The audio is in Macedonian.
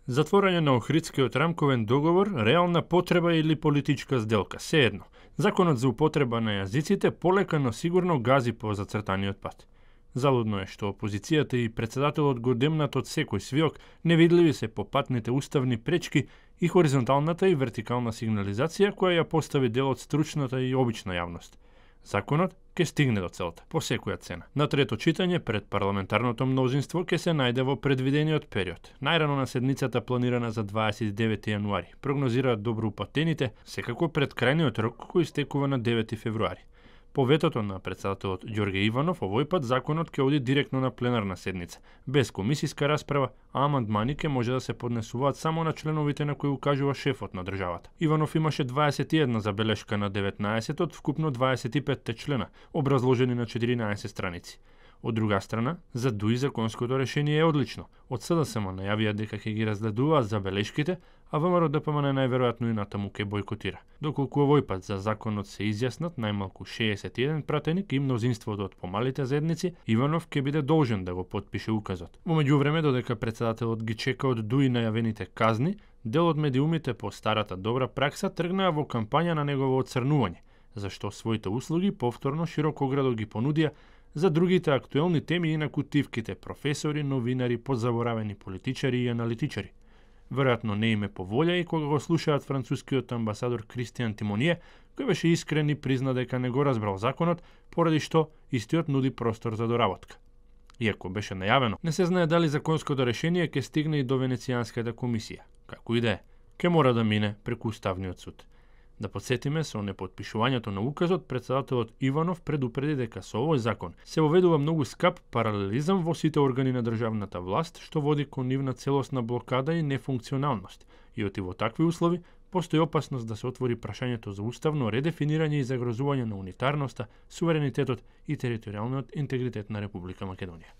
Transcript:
Затворање на Охридскиот рамковен договор, реална потреба или политичка сделка, сеедно. Законот за употреба на јазиците полека но сигурно гази по зацртаниот пат. Залудно е што опозицијата и председателот го демнат од секој свиок, невидливи се по патните уставни пречки и хоризонталната и вертикална сигнализација која ја постави дел од стручната и обична јавност. Законот ќе стигне до целта, по секоја цена. На трето читање пред парламентарното мнозинство ќе се најде во предвидениот период. Најрано на седницата планирана за 29 јануари. Прогнозираат доброупатените, секако пред крајниот рок кој истекува на 9 февруари. По ветото на председателот Ѓорге Иванов, овој пат законот ќе оди директно на пленарна седница, без комисиска расправа, а амандмани ќе може да се поднесуваат само на членовите на кои укажува шефот на државата. Иванов имаше 21 забелешка на 19 од вкупно 25 члена, образложени на 14 страници. Од друга страна, за ДУИ законското решение е одлично. Од СДСМ најавија дека ќе ги разгледуваат забелешките, а ВМРО ДПМН најверојатно и натаму ќе бойкотира. Доколку овој пат за законот се изјаснат најмалку 61 пратеник и мнозинството од помалите заедници, Иванов ќе биде должен да го потпише указот. Во меѓувреме, додека председателот ги чека од ДУИ најавените казни, дел од медиумите по старата добра пракса тргнаа во кампања на негово оцрнување, зашто своите услуги повторно широкоградо ги понудија за другите актуелни теми и на кутивките професори, новинари, подзаборавени политичари и аналитичари. Веројатно не име по волја и кога го слушаат францускиот амбасадор Кристијан Тимоние, кој беше искрен и призна дека не го разбрал законот, поради што истиот нуди простор за доработка. Иако беше најавено, не се знае дали законското решение ќе стигне и до Венецијанската комисија. Како и да е, ќе мора да мине преку Уставниот суд. Да подсетиме, со непотпишувањето на указот, председателот Иванов предупреди дека со овој закон се воведува многу скап паралелизам во сите органи на државната власт, што води кон нивна целосна блокада и нефункционалност. И оти во такви услови, постои опасност да се отвори прашањето за уставно редефинирање и загрозување на унитарноста, суверенитетот и територијалниот интегритет на Република Македонија.